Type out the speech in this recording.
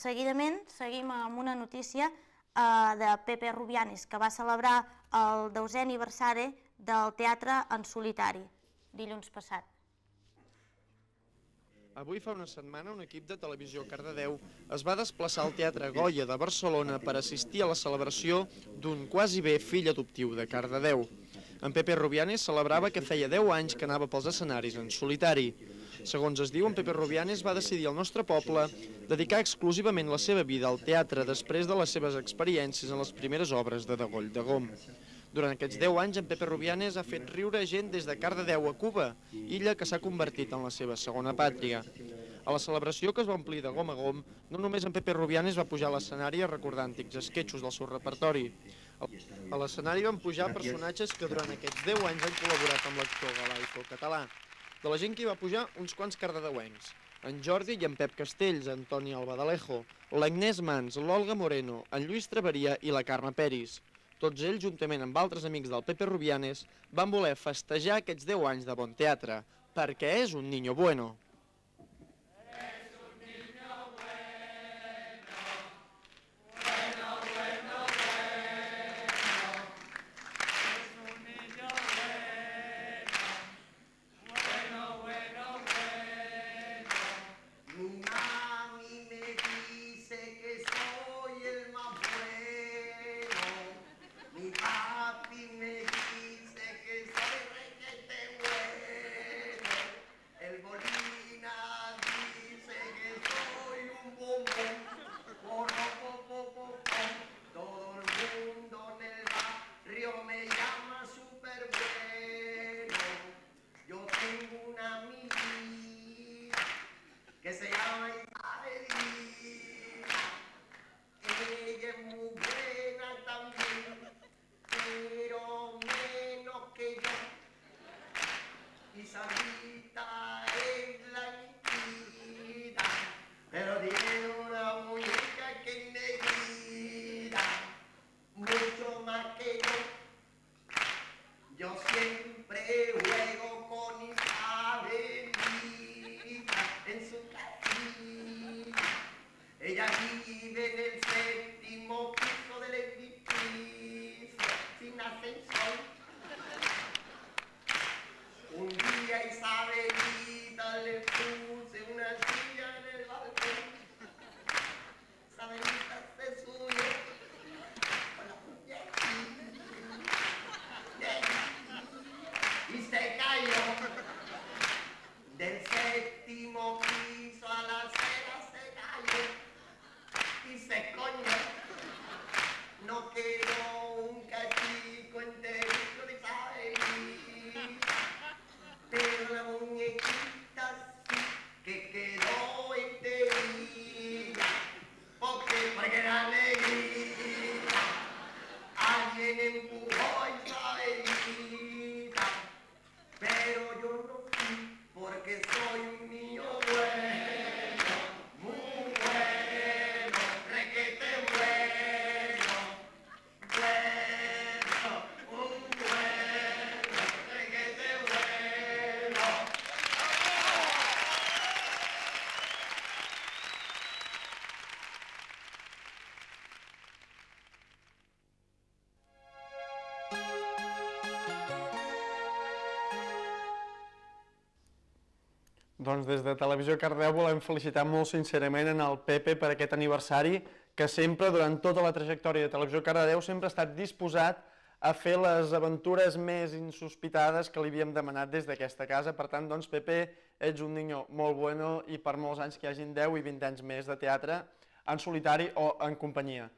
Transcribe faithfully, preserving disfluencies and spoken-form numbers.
seguidament seguim amb una notícia de Pepe Rubianes, que va celebrar el deuè aniversari del teatre en solitari, dilluns passat. Avui fa una setmana un equip de Televisió Cardedeu es va desplaçar al Teatre Goya de Barcelona per assistir a la celebració d'un quasi bé fill adoptiu de Cardedeu. En Pepe Rubianes celebrava que feia deu anys que anava pels escenaris en solitari. Segons es diu, en Pepe Rubianes va decidir al nostre poble dedicar exclusivament la seva vida al teatre després de les seves experiències en les primeres obres de Degoll de Gom. Durant aquests deu anys, en Pepe Rubianes ha fet riure gent des de Cardedeu a Cuba, illa que s'ha convertit en la seva segona pàtria. A la celebració, que es va omplir de gom a gom, no només en Pepe Rubianes va pujar a l'escenari a recordar antics esquetxos del seu repertori. A l'escenari van pujar personatges que durant aquests deu anys han col·laborat amb l'actor galaico català. De la gent que hi va pujar, uns quants cardedeuencs. En Jordi i en Pep Castells, en Toni Albadalejo, l'Agnès Mans, l'Olga Moreno, en Lluís Traveria i la Carme Peris. Tots ells, juntament amb altres amics del Pepe Rubianes, van voler festejar aquests deu anys de bon teatre, perquè és un niño bueno. Doncs des de Televisió Cardedeu volem felicitar molt sincerament en el Pepe per aquest aniversari, que sempre, durant tota la trajectòria de Televisió Cardedeu, sempre ha estat disposat a fer les aventures més insospitades que li havíem demanat des d'aquesta casa. Per tant, doncs, Pepe, ets un niño molt bueno i per molts anys que hi hagin deu i vint anys més de teatre en solitari o en companyia.